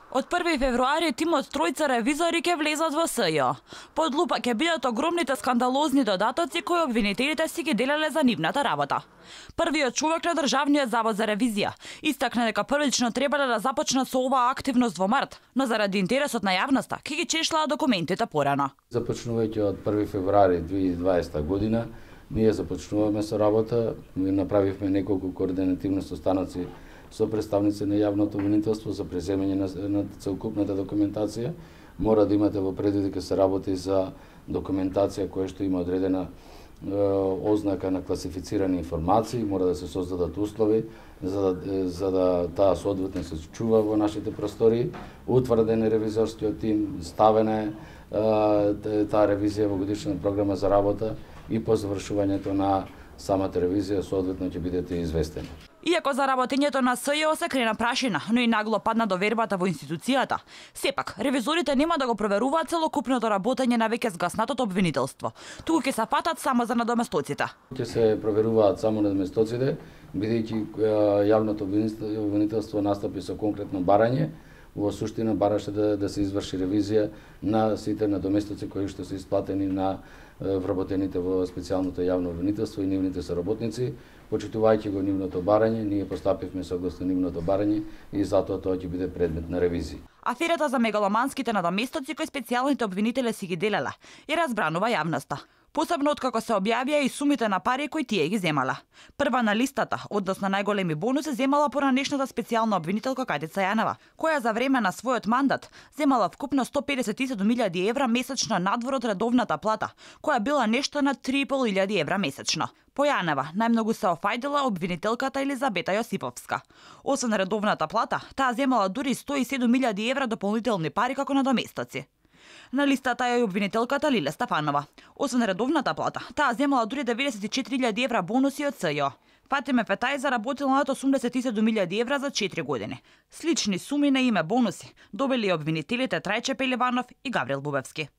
Од 1 февруари тимот тројца ревизори ќе влезат во СЈО. Под лупа ќе бидат огромните скандалозни додатоци кои обвинителите си ги делеле за нивната работа. Првиот човек на Државниот завод за ревизија истакна дека првично требале да започнат со оваа активност во март, но заради интересот на јавноста ќе ги чешлаа документите порано. Започнувајќи од 1 февруари 2020 година, ние започнуваме со работа, ми направивме неколку координативни состаноци со представници на јавното обвинителство за преземање на целокупната документација. Мора да имате во предвид дека се работи за документација која што има одредена ознака на класифицирани информации, мора да се создадат услови за да таа соодветно се чува во нашите простори. Утврден е ревизорскиот тим, ставена е таа ревизија во годишна програма за работа и по завршувањето на самата ревизија соодветно ќе бидете известени. Иако за работењето на СЈО се крена прашина, но и нагло падна довербата во институцијата, сепак ревизорите нема да го проверуваат целокупното работење на веќе згаснатото обвинителство, туку ќе се фатат само за надоместоците. Ќе се проверуваат само надоместоците, бидејќи јавното обвинителство настапи со конкретно барање. Во суштина бараше да се изврши ревизија на сите надоместоци кои што се исплатени на вработените во специјалното јавно обвинителство и нивните соработници. Почитувајќи го нивното барање, ние постапивме согласно нивното барање и затоа тоа ќе биде предмет на ревизија. Аферата за мегаломанските надоместоци кои специјалните обвинители си ги делела и разбранува јавноста. Посебно откако се објавија и сумите на пари кои тие ги земала. Прва на листата, односно најголеми бонуси, земала поранешната специјална обвинителка Катица Јанева, која за време на својот мандат земала вкупно 157.000 евра месечно надвор од редовната плата, која била нешто на 3.500 евра месечно. По Јанева најмногу се офајдила обвинителката Елизабета Јосиповска. Освен редовната плата, таа земала дури 107.000 евра дополнителни пари како надоместоци. На листата е и обвинителката Лиле Стефанова. Освен редовната плата, таа земала дури 94.000 евра бонуси од СЈО. Фатиме Фетај заработила над 87.000 евра за 4 години. Слични суми на име бонуси добили обвинителите Трајче Пеливанов и Гаврил Бубевски.